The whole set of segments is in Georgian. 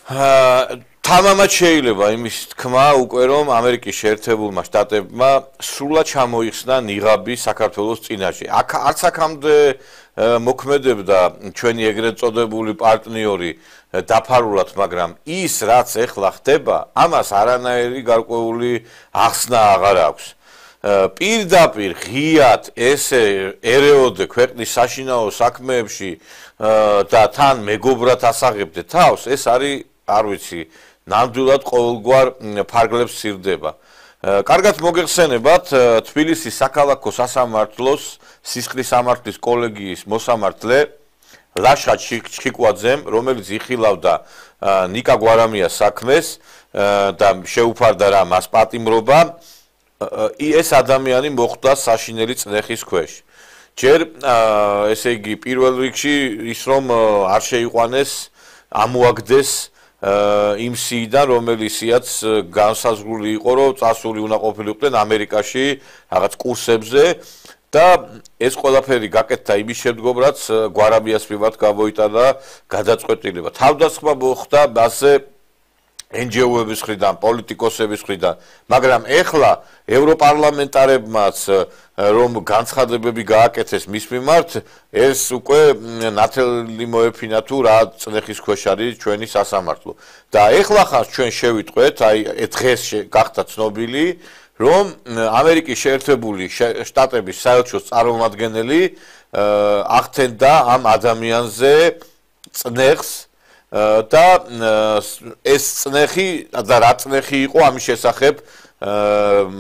თამამად შეიძლება იმის თქმა უკვე რომ ამერიკის შეერთებულმა შტატებმა სრულად ჩამოიხსნა ნიღაბი საქართველოს წინაშე. არც აქამდე მოქმედებდა ჩვენი ეგრეთ წოდებული პარტნიორი დაფარულად, მაგრამ ის რაც ეხლა ხდება, ამას არანაირი გარკვეული ახსნა აღარ აქვს. პირდაპირ ღიად ესე ერეოდე ქვეყნის საშინაო საქმეებში და თან მეგობრად ასაღებდე თავს, ეს არის, არ ვიცი, ნამდვილად ყოველგვარ ფარგლებს სცირდება. კარგად მოგეხსენებათ, თბილისის საქალაქო სასამართლოს სისხლის სამართლის კოლეგიის მოსამართლე ლაშა ჩხიკვაძემ, რომელიც იხილავდა ნიკა გვარამიას საქმეს და შეუფარდა რა მას პატიმრობა, ეს ადამიანი მოხვდა საშინელი წნეხის ქვეშ. ჯერ ესე იგი პირველ რიგში ის რომ არ შეიყვანეს, ამოაგდეს იმ სიიდან, რომელიც სიაც განსაზღვრული იყო, რომ წასული უნდა ყოფილიყვნენ ამერიკაში რაღაც კურსებზე და ეს ყველაფერი გაკეთდა იმის შემდგომ, რაც გვარამიას მიმართ გამოიტანა გადაწყვეტილება. თავდასხმა მოხდა მასზე NGO-ების მხრიდან, პოლიტიკოსების მხრიდან, მაგრამ ეხლა ევროპარლამენტარებმაც რომ განცხადებები გააკეთეს მის მიმართ, ეს უკვე ნათელი მოეფინა თუ რა წნეხის ქვეშ არის ჩვენი სასამართლო. და ეხლა ხანს ჩვენ შევიტყვეთ, აი დღეს გახდა ცნობილი, რომ ამერიკის შეერთებული შტატების საელჩოს წარმომადგენელი ახდენდა ამ ადამიანზე წნეხს და ეს წნეხი და რა წნეხი იყო ამის შესახებ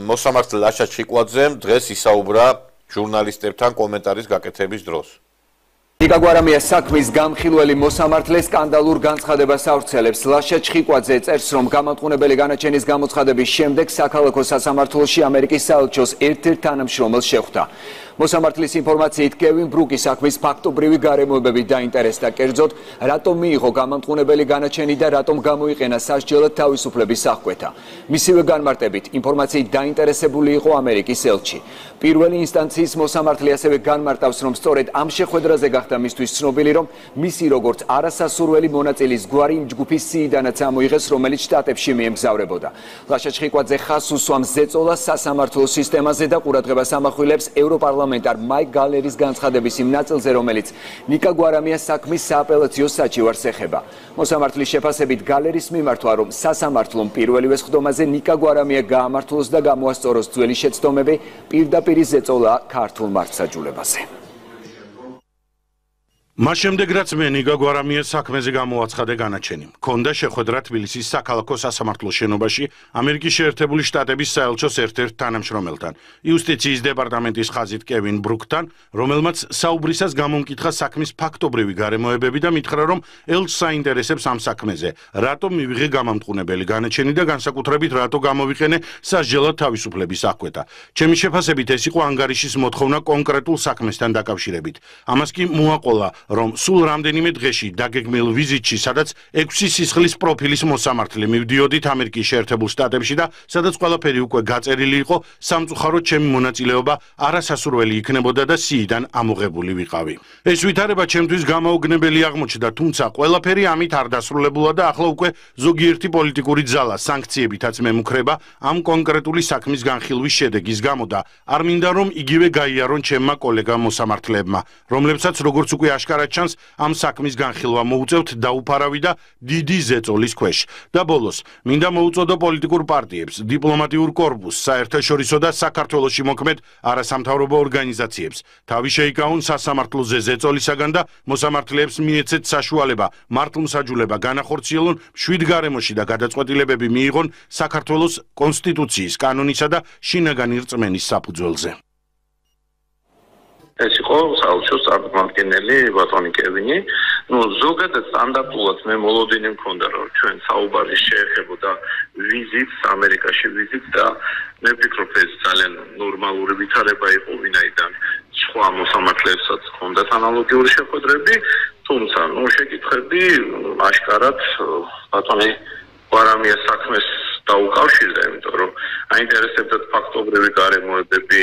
მოსამართლე ლაშა ჩხიკვაძემ დღეს ისაუბრა ჟურნალისტებთან კომენტარის გაკეთების დროს. ნიკა გვარამიას საქმის გამხილველი მოსამართლე სკანდალურ განცხადებას ავრცელებს. ლაშა ჩხიკვაძე წერს, რომ გამამტყუნებელი განაჩენის გამოცხადების შემდეგ საქალაქო სასამართლოში ამერიკის საელჩოს ერთ-ერთ თანამშრომელს შეხვდა. მოსამართლის ინფორმაციით კევინ ბრუკის საქმის ფაქტობრივი გარემოებები დაინტერესდა, კერძოდ რატომ მიიღო გამამტყუნებელი განაჩენი და რატომ გამოიყენა სასჯელად თავისუფლების აღკვეთა. მისივე განმარტებით, ინფორმაციით დაინტერესებული იყო ამერიკის ელჩი. პირველი ინსტანციის მოსამართლე ასევე განმარტავს, რომ სწორედ ამ შეხვედრაზე გახდა მისთვის ცნობილი, რომ მისი როგორც არასასურველი მონაწილის გვარი იმ ჯგუფის სიიდანაც ამოიღეს, რომელიც შტატებში მიემგზავრებოდა. ლაშა ჩხიკვაძე ხაზს უსვამს ზეწოლას სასამართლო სისტემაზე და ყურადღებას ამახვილებს ევროპარლამენტარ მაიკ გალერის განცხადების იმ ნაწილზე, რომელიც ნიკა გვარამიას საქმის სააპელაციო საჩივარს ეხება. მოსამართლის შეფასებით გალერის მიმართვა, რომ სასამართლომ პირველივე სხდომაზე ნიკა გვარამია გაამართლოს და გამოასწოროს ძველი შეცდომები, პირდაპირ ზეწოლა ქართულ მართლმსაჯულებაზე. მას შემდეგ რაც მე ნიკა გვარამიას საქმეზე გამოაცხადე განაჩენი, მქონდა შეხვედრა თბილისის საქალაქო სასამართლოს შენობაში ამერიკის შეერთებული შტატების საელჩოს ერთ-ერთ თანამშრომელთან, იუსტიციის დეპარტამენტის ხაზით კევინ ბრუკთან, რომელმაც საუბრისას გამომკითხა საქმის ფაქტობრივი გარემოებები და მითხრა, რომ ელჩს საინტერესებს ამ საქმეზე, რატომ მივიღე გამამტყუნებელი განაჩენი და განსაკუთრებით რატო გამოვიყენე სასჯელად თავისუფლების აღკვეთა. ჩემი შეფასებით ეს იყო ანგარიშის მოთხოვნა კონკრეტულ საქმესთან დაკავშირებით. ამას კი მოაყოლა რომ სულ რამდენიმე დღეში დაგეგმილ ვიზიტში, სადაც 6 სისხლის პროფილის მოსამართლე მივდიოდით ამერიკის შეერთებულ შტატებში და სადაც ყველაფერი უკვე გაწერილი იყო, სამწუხაროდ ჩემი მონაწილეობა არასასურველი იქნებოდა და სიიდან ამოღებული ვიყავი. ეს ვითარება ჩემთვის გამოუგნებელი აღმოჩნდა, თუმცა ყველაფერი ამით არ დასრულებულა და ახლა უკვე ზოგიერთი პოლიტიკური ძალა სანქციებითაც მემუქრება ამ კონკრეტული საქმის განხილვის შედეგის გამო და არ მინდა რომ იგივე გაიარონ ჩემმა კოლეგამ მოსამართლეებმა, რომლებსაც როგორც უკვე აშკარად ჩანს ამ საქმის განხილვა მოუწევთ დაუფარავი და დიდი ზეწოლის ქვეშ. და ბოლოს, მინდა მოუწოდო პოლიტიკურ პარტიებს, დიპლომატიურ კორპუსს, საერთაშორისო და საქართველოში მოქმედ არასამთავრობო ორგანიზაციებს. თავი შეიკავონ სასამართლოზე ზეწოლისაგან და მოსამართლეებს მიეცეთ საშუალება მართლმსაჯულება განახორციელონ მშვიდ გარემოში და გადაწყვეტილებები მიიღონ საქართველოს კონსტიტუციის, კანონისა და შინაგანი რწმენის საფუძველზე. ეს იყო საელჩოს წარმომადგენელი ბატონი კევინი. ზოგადად სტანდარტულად მე მოლოდინი მქონდა, რომ ჩვენ საუბარი შეეხებოდა ვიზიტს, ამერიკაში ვიზიტს და მე ვფიქრობ, ეს ძალიან ნორმალური ვითარება იყო, ვინაიდან სხვა მოსამართლეებსაც ჰქონდათ ანალოგიური შეხვედრები, თუმცა შეკითხები აშკარად ბატონი გვარამიას საქმეს დაუკავშირდა, იმიტომ რომ აინტერესებდათ ფაქტობრივი გარემოებები,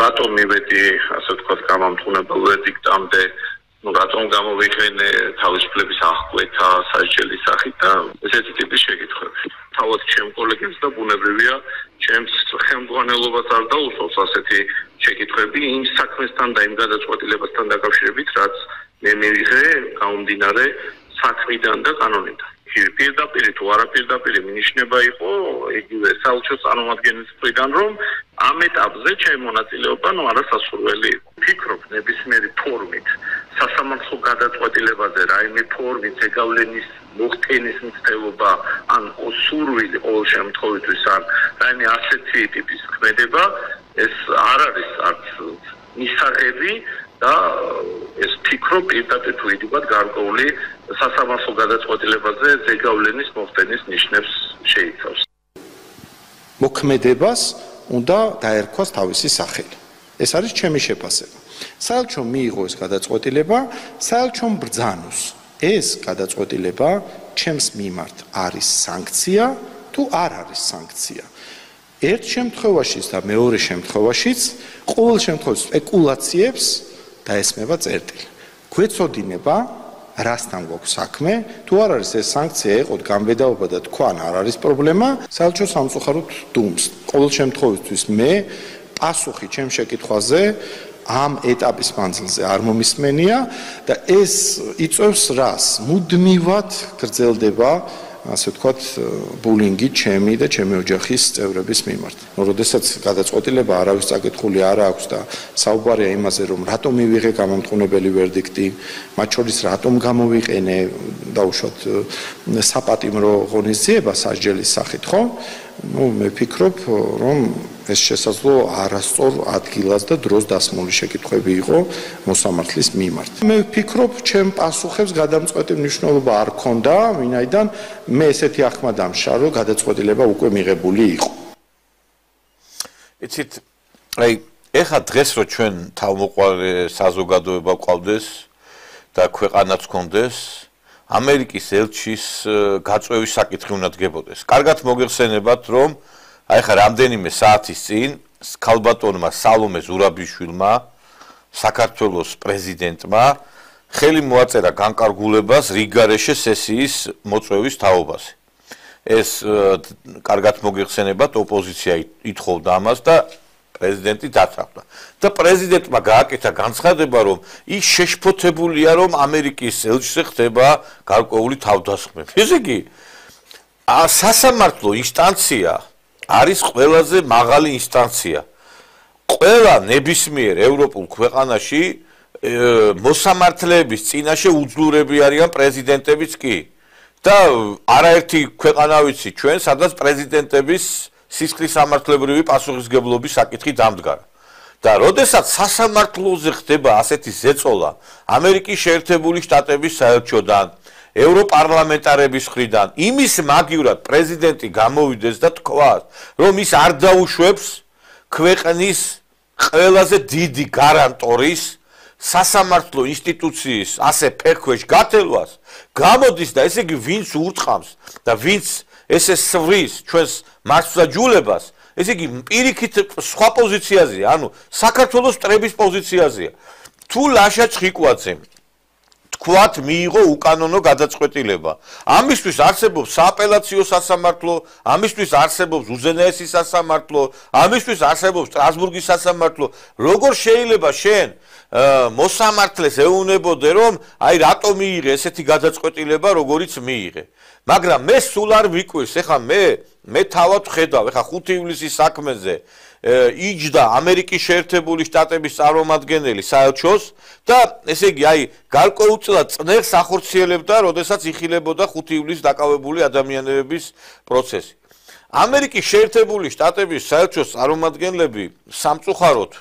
რატომ მივედი, ასე ვთქვათ, გამამტყუნებელ ვერდიქტამდე, რატომ გამოვიყენე თავისუფლების აღკვეთა სასჯელის სახით და ეს ესეთი ტიპის შეკითხვები. თავად ჩემ კოლეგებს და ბუნებრივია ჩემს ხელმძღვანელობას არ დაუსვავს ასეთი შეკითხვები იმ საქმესთან და იმ გადაწყვეტილებასთან დაკავშირებით, რაც მე მივიღე გამომდინარე საქმიდან და კანონიდან. პირდაპირ თუ არაპირდაპირ მინიშნება იყო იგივე საელჩოს წარმომადგენლის მხრიდან, რომ ამ ეტაპზე ჩემი მონაწილეობა არასასურველი იყო. ვფიქრობ, ნებისმიერი ფორმით სასამართლო გადაწყვეტილებაზე რაიმე ფორმით ზეგავლენის მოხდენის მცდელობა ან სურვილი ყოველ შემთხვევაში ან რაიმე ასეთი ტიპის ქმედება ეს არ არის არც მისაღები და ეს ფიქრო პირდაპირ თუ იდივად გარკვეული სასამართლო გადაწყვეტილებაზე ზეგავლენის მოხდენის ნიშნებს შეიცავს. მოქმედებას უნდა დაერქვას თავისი სახელი. ეს არის ჩემი შეფასება. საელჩომ მიიღო ეს გადაწყვეტილება, საელჩომ ბრძანოს. ეს გადაწყვეტილება ჩემს მიმართ არის სანქცია თუ არ არის სანქცია. ერთ შემთხვევაშიც და მეორე შემთხვევაშიც ყოველ შემთხვევაში სპეკულაციებს დაესმება წერტილი. გვეცოდინება რასთან გვაქვს საქმე, თუ არ არის ეს სანქცია ეყოთ გამბედაობა და თქვან არ არის პრობლემა, საელჩო სამწუხაროდ დუმს. ყოველ შემთხვევაში მე პასუხი ჩემ შეკითხვაზე ამ ეტაპის მანძილზე არ მომისმენია და ეს იწვევს რას? მუდმივად გრძელდება, ასე ვთქვათ, ბულინგი ჩემი და ჩემი ოჯახის წევრების მიმართ. როდესაც გადაწყვეტილება არავის წაკითხული არ აქვს და საუბარია იმაზე, რომ რატომ მივიღე გამამტყუნებელი ვერდიქტი, მათ შორის რატომ გამოვიყენე დაუშვათ საპატიმრო ღონისძიება სასჯელის სახით, ხო? მე ვფიქრობ, რომ ეს შესაძლო არასწორ ადგილას და დროს დასმული შეკითხვები იყო მოსამართლის მიმართ. მე ვფიქრობ, ჩემ პასუხებს გადამწყვეტი მნიშვნელობა არ ქონდა, ვინაიდან მე ესეთი ახმა დამშა, რომ გადაწყვეტილება უკვე მიღებული იყო. იცით, აი, ეხა დღეს რო ჩვენ თავმოყარე საზოგადოება ყავდეს და ქვეყანაც გქონდეს, ამერიკის ელჩის გაწვევის საკითხი უნდა დგებოდეს. კარგად მოგეხსენებათ, რომ აი ხა რამდენიმე საათის წინ ქალბატონმა სალომე ზურაბიშვილმა საქართველოს პრეზიდენტმა ხელი მოაწერა განკარგულებას რიგგარეშე სესიის მოწვევის თაობაზე. ეს კარგად მოგეხსენებათ, ოპოზიცია ითხოვდა ამას და პრეზიდენტი დათანხმდა. და პრეზიდენტმა გააკეთა განცხადება, რომ ის შეშფოთებულია, რომ ამერიკის ელჩზე ხდება გარკვეული თავდასხმები. ესე იგი, სასამართლო ინსტანცია არის ყველაზე მაღალი ინსტანცია. ყველა ნებისმიერ ევროპულ ქვეყანაში მოსამართლეების წინაშე უძლურები არიან პრეზიდენტებიც კი. და არაერთი ქვეყანა ვიცი ჩვენ, სადაც პრეზიდენტების სისხლის სამართლებრივი პასუხისგებლობის საკითხი დამდგარა. და როდესაც სასამართლოზე ხდება ასეთი ზეწოლა ამერიკის შეერთებული შტატების საელჩოდან, ევროპარლამენტარების მხრიდან, იმის მაგივრად პრეზიდენტი გამოვიდეს და თქვას, რომ ის არ დაუშვებს ქვეყნის ყველაზე დიდი გარანტორის სასამართლო ინსტიტუციის ასე ფეხქვეშ გათელვას, გამოდის და ესე იგი ვინც ურტყამს და ვინც ესე სვრის ჩვენს მასწავლებლებას, ესე იგი პირიქით სხვა პოზიციაზეა, ანუ საქართველოს მტრების პოზიციაზეა. თუ ლაშა ჩხიკვაძემ თქვათ მიიღო უკანონო გადაწყვეტილება. ამისთვის არსებობს სააპელაციო სასამართლო, ამისთვის არსებობს უზენაესი სასამართლო, ამისთვის არსებობს სტრასბურგის სასამართლო. როგორ შეიძლება შენ მოსამართლეს ეუბნებოდე, რომ აი რატო მიიღე ესეთი გადაწყვეტილება, როგორიც მიიღე. მაგრამ მე სულ არ ვიკვირს, ეხა მე თავად ვხედავ, ეხა 5 ივლისის საქმეზე იჯდა ამერიკის შეერთებული შტატების წარმომადგენელი საელჩოს და ესე იგი აი გარკვეულწილად წნეხს ახორციელებდა, როდესაც იხილებოდა 5 ივლისს დაკავებული ადამიანების პროცესი. ამერიკის შეერთებული შტატების საელჩოს წარმომადგენლები სამწუხაროდ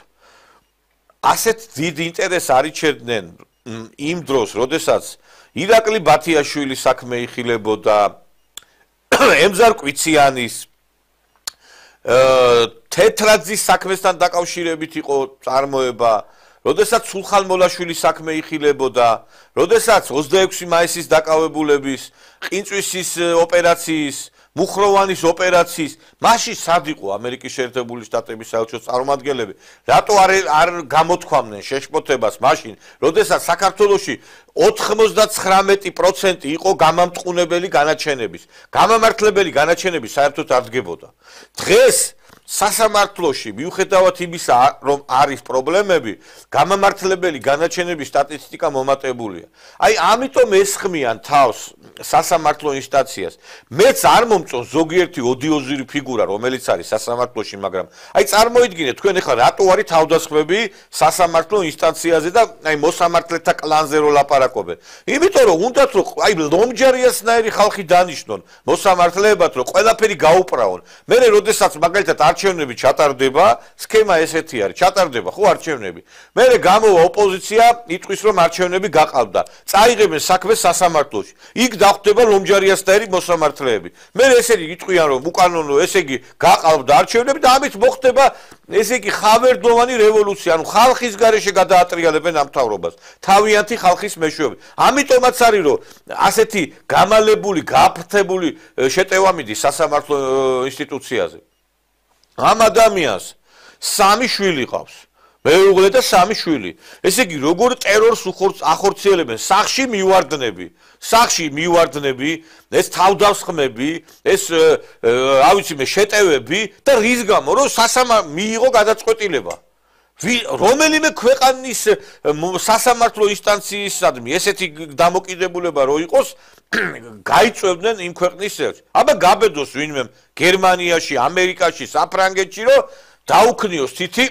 ასეთ დიდ ინტერესს არ იჩერდნენ იმ დროს, როდესაც ირაკლი ბათიაშვილის საქმე იხილებოდა, ემზარ კვიციანის თეთრაძის საქმესთან დაკავშირებით იყო წარმოება, როდესაც სულხან მოლაშვილის საქმე იხილებოდა, როდესაც 26 მაისის დაკავებულების ყინწვისის ოპერაციის მუხროვანის ოპერაციის მაშინ სად იყო ამერიკის შეერთებული შტატების საელჩოს წარმომადგენლები რატო არ გამოთქვამდნენ შეშფოთებას მაშინ როდესაც საქართველოში 99% იყო გამამტყუნებელი განაჩენების გამამართლებელი განაჩენები საერთოდ არ დგებოდა დღეს სასამართლოში მიუხედავად იმისა რომ არის პრობლემები გამამართლებელი განაჩენების სტატისტიკა მომატებულია აი ამიტომ ესხმიან თავს სასამართლო ინსტანციას მეც არ მომწონს ზოგიერთი ოდიოზური ფიგურა რომელიც არის სასამართლოში მაგრამ აი წარმოიდგინეთ თქვენ ახლა რატო არის თავდასხმები სასამართლო ინსტანციაზე და აი მოსამართლეთა კლანზე რო ლაპარაკობენ იმიტომ რომ უნდათ რომ აი ლომჯარიასნაირი ხალხი დანიშნონ მოსამართლეებად რომ ყველაფერი გაუპრავონ მე როდესაც მაგალითად არჩევნები ჩატარდება სქემა ესეთი არის ჩატარდება ხო არჩევნები მე გამოვა ოპოზიცია იტყვის რომ არჩევნები გაყავდა წაიღებენ საქმეს სასამართლოში იქ დახვდება ლომჯარიასნაირი მოსამართლეები მე ესენი იტყვიან რომ უკანონო ესე იგი გაყავდა არჩევნები და ამით მოხდება ესე იგი ხავერდოვანი რევოლუცია ანუ ხალხის გარეშე გადაატრიალებენ ამ მთავრობას თავიანთი ხალხის მეშვეობით ამიტომაც არის რომ ასეთი გამალებული გაფრთხებული შეტევა მიდის სასამართლო ინსტიტუციაზე ამ ადამიანს 3 შვილი ყავს მეუღლე და 3 შვილი ესე იგი როგორ ტერორს ახორციელებენ სახში მივარდნები ეს თავდასხმები ეს რა ვიცი მე შეტევები და რის გამო რომ მიიღო გადაწყვეტილება რომელიმე ქვეყანის სასამართლო ინსტანციისადმი ესეთი დამოკიდებულება რო იყოს გაიწევდნენ იმ ქვეყნის წევრს აბა გაბედოს ვინმე გერმანიაში ამერიკაში საფრანგეთში რომ დაუქნიოს თითი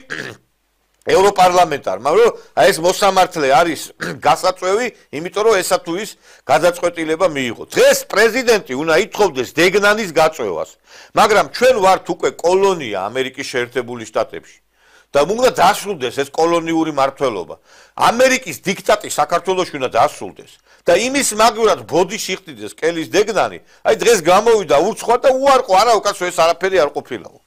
ევროპარლამენტარმა რომ აი ეს მოსამართლე არის გასაწვევი იმიტომ რომ ესა თუ ის გადაწყვეტილება მიიღო დღეს პრეზიდენტი უნდა ითხოვდეს დეგნანის გაწვევას მაგრამ ჩვენ ვართ უკვე კოლონია ამერიკის შეერთებული შტატებში და უნდა დასრულდეს ეს კოლონიური მართლობა ამერიკის დიქტატი საქართველოში უნდა დასრულდეს და იმის მაგურად ბოდიში იხდიდეს კელის დეგნანი აი დღეს გამოვიდა ურცხვა და უარყო არა უკაცო ეს არაფერი არ ყოფილაო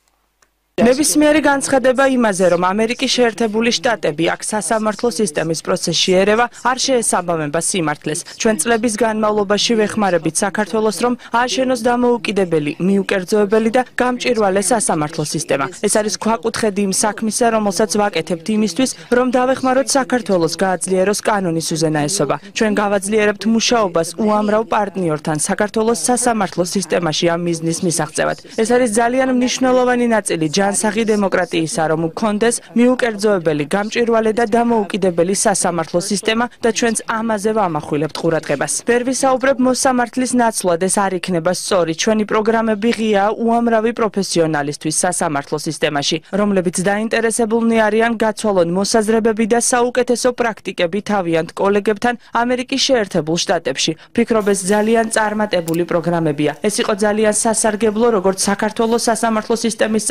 ნებისმიერი განცხადება იმაზე, რომ ამერიკის შეერთებული შტატები აქ სასამართლო სისტემის პროცესში ერევა, არ შეესაბამება სიმართლეს. ჩვენ წლების განმავლობაში ვეხმარებით საქართველოს, რომ ააშენოს დამოუკიდებელი, მიუკერძოებელი და გამჭვირვალე სასამართლო სისტემა. ეს არის ქვაკუთხედი იმ საქმისა, რომელსაც ვაკეთებთ იმისთვის, რომ დავეხმაროთ საქართველოს გააძლიეროს კანონის უზენაესობა. ჩვენ გავაძლიერებთ მუშაობას უამრავ პარტნიორთან საქართველოს სასამართლო სისტემაში ამ მიზნის მისაღწევად. ეს არის ძალიან მნიშვნელოვანი ნაწილი ჯანსაღი დემოკრატიისა, რომ გქონდეს მიუკერძოებელი, გამჭვირვალე და დამოუკიდებელი სასამართლო სისტემა და ჩვენც ამაზე ვამახვილებთ ყურადღებას. ვერ ვისაუბრებ მოსამართლის ნაცვლად, ეს არ იქნება სწორი. ჩვენი პროგრამები ღიაა უამრავი პროფესიონალისთვის სასამართლო სისტემაში, რომლებიც დაინტერესებულნი არიან გაცვალონ მოსაზრებები და საუკეთესო პრაქტიკები თავიანთ კოლეგებთან ამერიკის შეერთებულ შტატებში. ვფიქრობ, ეს ძალიან წარმატებული პროგრამებია. ეს იყო ძალიან სასარგებლო როგორც საქართველოს სასამართლო სისტემის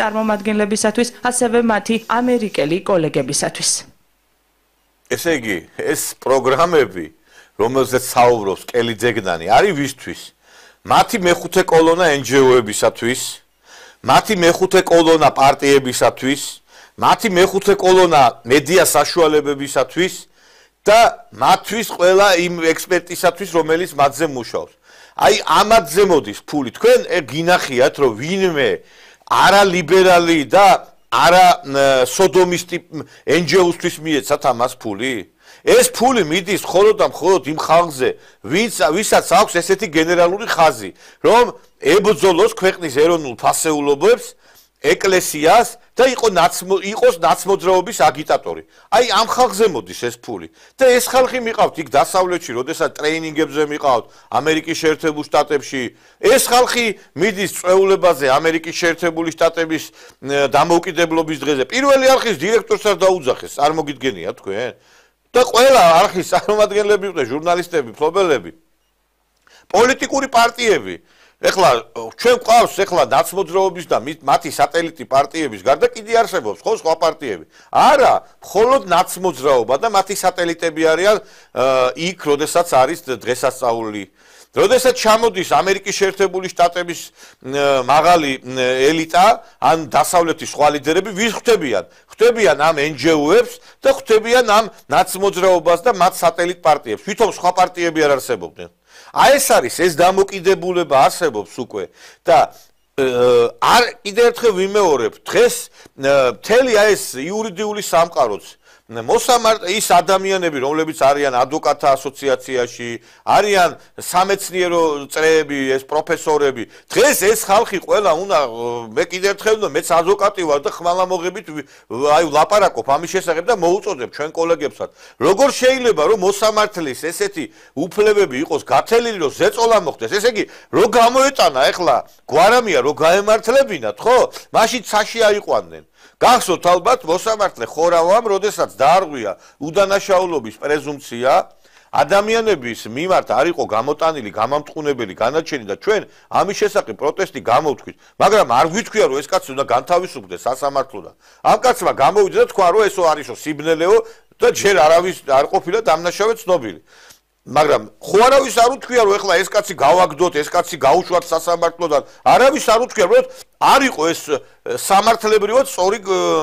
წარმომადგენლებისათვის, ასევე მათი ამერიკელი კოლეგებისათვის. ესე იგი, ეს პროგრამები, რომელზეც საუბრობს კელი დეგნანი, არის ვისთვის? მათი მეხუთე კოლონა NGO-ებისათვის, მათი მეხუთე კოლონა პარტიებისათვის, მათი მეხუთე კოლონა მედია საშუალებებისათვის და მათთვის ყველა იმ ექსპერტისათვის, რომელიც მათზე მუშაობს. აი, ამათზე მოდის ფული. თქვენ გინახიათ, რომ ვინმე არა ლიბერალი და არა სოდომისტი NGO-ისთვის მიეცათ ამას ფული? ეს ფული მიდის მხოლოდ და მხოლოდ იმ ხალხზე, ვისაც აქვს ესეთი გენერალური ხაზი, რომ ებრძოლოს ქვეყნის ეროვნულ ფასეულობებს, ეკლესიას და იყოს ნაცმოძრაობის აგიტატორი. აი ამ ხალხზე მოდის ეს ფული. და ეს ხალხი მიყავთ იქ დასავლეთში, როდესაც ტრეინინგებზე მიყავთ ამერიკის შეერთებულ შტატებში. ეს ხალხი მიდის წვეულებაზე ამერიკის შეერთებული შტატების დამოუკიდებლობის დღეზე. პირველი არხის დირექტორსაც დაუძახეს, არ მოგიდგენია თქვენ? და ყველა არხის წარმომადგენლები იყვნენ, ჟურნალისტები, მფლობელები, პოლიტიკური პარტიები. ეხლა ჩვენ გვყავს ეხლა ნაცმოძრაობის და მათი სატელიტი პარტიების გარდა კიდე არსებობს ხო სხვა პარტიები? არა, მხოლოდ ნაცმოძრაობა და მათი სატელიტები არიან იქ, როდესაც არის დღესასწაული. როდესაც ჩამოდის ამერიკის შეერთებული შტატების მაღალი ელიტა, ან დასავლეთის სხვა ლიდერები, ვის ხვდებიან? ხვდებიან ამ NGO-ებს და ხვდებიან ამ ნაცმოძრაობას და მათ სატელიტ პარტიებს. თვითონ სხვა პარტიები არ არსებობდნენ. აი ეს არის ეს დამოკიდებულება არსებობს უკვე და არ კიდევ ერთხელ ვიმეორებ დღეს მთელი აი ეს იურიდიული სამყაროც ის ადამიანები, რომლებიც არიან ადვოკატთა ასოციაციაში, არიან სამეცნიერო წრეები, ეს პროფესორები, დღეს ეს ხალხი ყველა უნდა მე კიდევ ერთხელ მეც ადვოკატი ვარ და ხმალამოღებით აი ვლაპარაკობ ამის შესახებ და მოუწოდებ ჩვენ კოლეგებსაც. როგორ შეიძლება რომ მოსამართლის ესეთი უფლებები იყოს გათელილი, რომ ზეწოლა მოხდეს? ესე იგი, რო გამოეტანა ეხლა გვარამია, რო გაემართლებინათ, ხო? მაშინ ცაში აიყვანდნენ. გახსოვთ ალბათ მოსამართლე ხორავამ, როდესაც დაარღვია უდანაშაულობის პრეზუმპცია, ადამიანების მიმართ არ იყო გამოტანილი გამამტყუნებელი განაჩენი და ჩვენ ამის შესახებ პროტესტი გამოვთქვით, მაგრამ არ გვითქვია რომ ეს კაცი უნდა განთავისუფლდეს სასამართლოდან. ამ კაცმა გამოვიდა და თქვა რომ ესო არისო სიბნელეო და ჯერ არავის არ ყოფილა დამნაშავე ცნობილი. მაგრამ ხო არავის არ უთქვია რომ ეხლა ეს კაცი გავაგდოთ, ეს კაცი გაუშვათ სასამართლოდან. არავის არ უთქვია რომ არ იყო ეს სამართლებრივად სწორი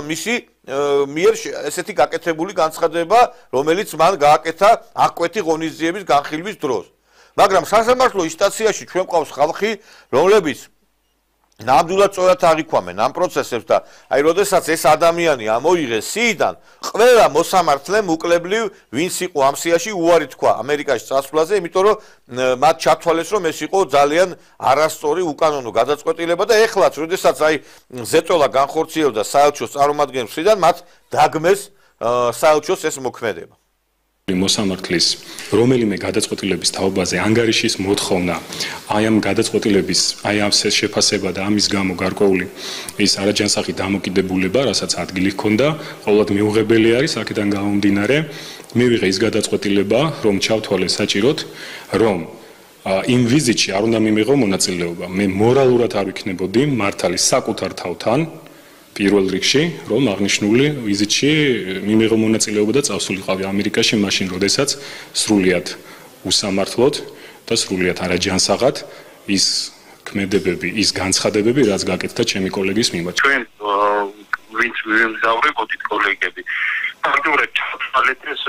მისი მიერ ესეთი გაკეთებული განცხადება, რომელიც მან გააკეთა აღკვეთი ღონისძიების განხილვის დროს. მაგრამ სასამართლო ინსტანციაში ჩვენ ყავს ხალხი, რომლებიც ნამდვილად სწორად აღიქვამენ ამ პროცესებს და აი როდესაც ეს ადამიანი ამოიღეს სიიდან, ყველა მოსამართლემ უკლებლივ ვინც იყო ამ სიაში უარი თქვა ამერიკაში წასვლაზე, იმიტომ რომ მათ ჩათვალეს რომ ეს იყო ძალიან არასწორი უკანონო გადაწყვეტილება და ეხლაც როდესაც აი ზეწოლა განხორციელდა საელჩოს წარმომადგენლებიდან მათ დაგმეს საელჩოს ეს მოქმედება. მოსამართლის რომელიმე გადაწყვეტილების თაობაზე ანგარიშის მოთხოვნა აი ამ გადაწყვეტილების აი ამ შეფასება და ამის გამო გარკვეული ის არაჯანსაღი დამოკიდებულება, რასაც ადგილი ჰქონდა, ყოველად მიუღებელი არის აქედან გამომდინარე მივიღე ის გადაწყვეტილება, რომ ჩავთვალე საჭიროდ, რომ იმ ვიზიტში არ უნდა მიმიღო მონაწილეობა. მე მორალურად არ ვიქნებოდი მართალი საკუთარ თავთან პირველ რიგში, რომ აღნიშნული ვიზიტში მიმიღო მონაწილეობა და წავსულიყავი ამერიკაში, მაშინ, როდესაც სრულიად უსამართლოდ და სრულიად არაჯანსაღად ის ქმედებები, ის განცხადებები, რაც გაკეთდა ჩემი კოლეგის მიმართ. ჩვენ ვინც ვიმგზავრებოდით კოლეგები, ფაქტურად ჩავთვალეთ ეს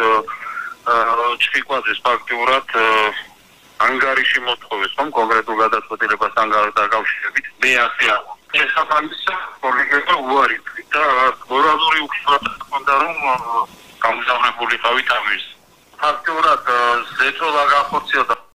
ჩხიკვაძეს ფაქტურად ანგარიში მოთხოვეს, რომ კონკრეტულ გადაწყვეტილებასთან დაკავშირებით მე ასე შესაბამისად კოლეგებმა უარი თქვა და მორალური უხსნა ჰქონდა რომ გამგზავრებულიყავით ამის. ფაქტურად ზეწოლა განხორციელდა